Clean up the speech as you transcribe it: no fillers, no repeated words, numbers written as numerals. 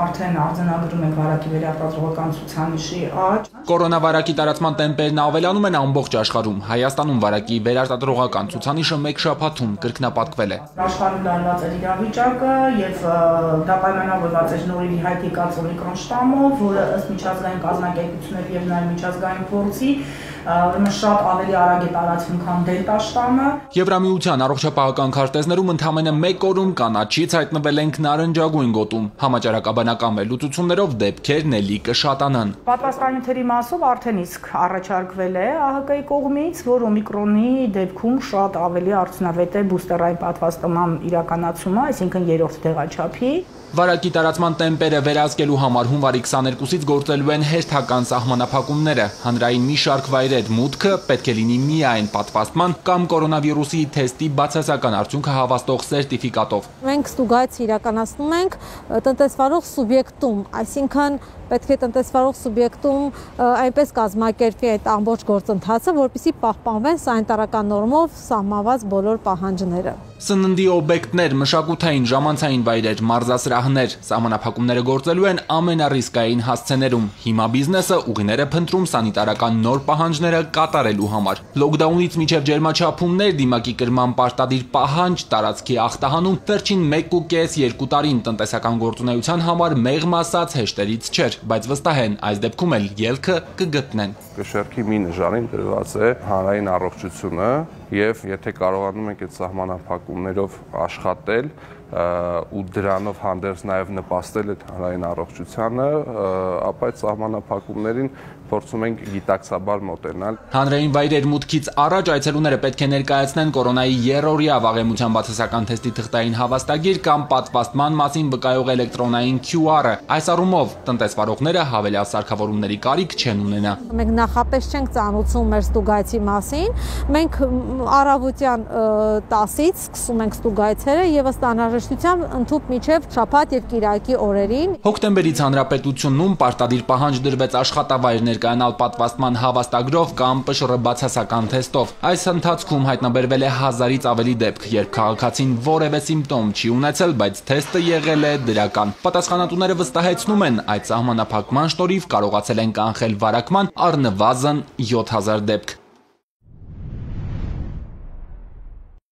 Արդեն արձանագրում ենք վարակի վերարտադրողական ցուցանիշի աճ։ Կորոնավարակի տարածման տեմպերն ավելանում են ամբողջ աշխարհում։ Հայաստանում վարակի վերարտադրողական ցուցանիշը մեկ շաբաթում կրկնապատկվել է։ Աշխարհում լարված է իրավիճակը եւ դա պայմանավորված է նորից հայտ եկած օմիկրոն շտամով, որը ըստ միջազգային կազմակերպությունների եւ նաեւ միջազգային փորձի շատ ավելի արագ է տարածվում, քան դելտա շտամը։ Եվրամիության առողջապահական քարտեզներում ընդամենը մեկ օրում կանաչից հայտնվել ենք նարնջագույն գոտում։ Համաճարակաբանական վերլուծություններով դեպքերն էլի կշատանան։ Պատվաստանյութերի մասով արդեն իսկ առաջարկվել է ԱՀԿ-ի կողմից, որ օմիկրոնի դեպքում շատ ավելի արդյունավետ է բուստերային պատվաստման իրականացումը, այսինքն երրորդ տեղաչափի։ Վարակի տարածման տեմպերը վերահսկելու համար հունվարի 22-ից գործելու են հերթական սահմանափակումները։ Հանրային մի շարք վայրեր մուտքը պետք է լինի միայն պատվաստման կամ կորոնավիրուսի թեստի բացասական արդյունքը հավաստող սերտիֆիկատով։ Մենք ստուգայց իրականացնում ենք տնտեսվարող սուբյեկտում, այսինքն պետք է տնտեսվարող սուբյեկտում այնպես կազմակերպվի այդ ամբողջ գործընթացը, որպեսզի պահպանվեն սանիտարական նորմով սահմանված բոլոր պահանջները։ Սննդի օբյեկտներ, մշակութային, ժամանցային վայրեր, մարզասրահներ, սահմանափակումները գործելու են ամենառիսկային հասցեներում։ Հիմա բիզնեսը ուղիներ է փնտրում սանիտարական նոր պահանջները կատարելու համար։ Լոկդաունից մինչև ջերմաչափումներ, դիմակի կրման պարտադիր պահանջ, տարածքի ախտահանում վերջին 1.5-2 տարին տնտեսական գործունեության համար մեղմ ասած հեշտերից չէր, բայց վստահ են այս դեպքում էլ ելքը կգտնեն։ Կշեռքի մի նժարին դրված է հանրային առողջությունը եւ եթե կարողանում ենք այդ սահմանափակումներով աշխատել ու դրանով հանդերձ նաև նպաստել այդ հանրային առողջությանը, ապա այդ սահմանափակումներին փորձում ենք գիտակցաբար մոտենալ։ Հանրային վայրեր մուտքից առաջ այցելուները պետք է ներկայացնեն կորոնայի երրորդյա վաղեմության բացասական թեստի թղթային հավաստագիր կամ պատվաստման մասին վկայող էլեկտրոնային QR-ը։ Այս առումով տնտեսվարողները հավելյալ սարքավորումների կարիք չեն ունենա։ Մենք նախապես չենք ծանոթում մեր ստուգայցի մասին։ Մենք առավոտյան 10-ից սկսում ենք ստուգայցերը եւ ըստ անհրաժեշտության ընդհուպ մինչեւ շաբաթ եւ կիրակի օրերին։ Հոկտեմբերից հանրապետությունում պարտադիր պահանջ դրվեց աշխատավայր ներկայանալ պատվաստման հավաստագրով կամ ՊՇՌ բացասական թեստով։ Այս ընթացքում հայտնաբերվել է 1000-ից ավելի դեպք, երբ քաղաքացին որևէ սիմպտոմ չի ունեցել, բայց թեստը եղել է դրական։ Պատասխանատուները վստահեցնում են, այդ սահմանափակման շնորհիվ կարողացել են կանխել վարակման առնվազն 7000 դեպք։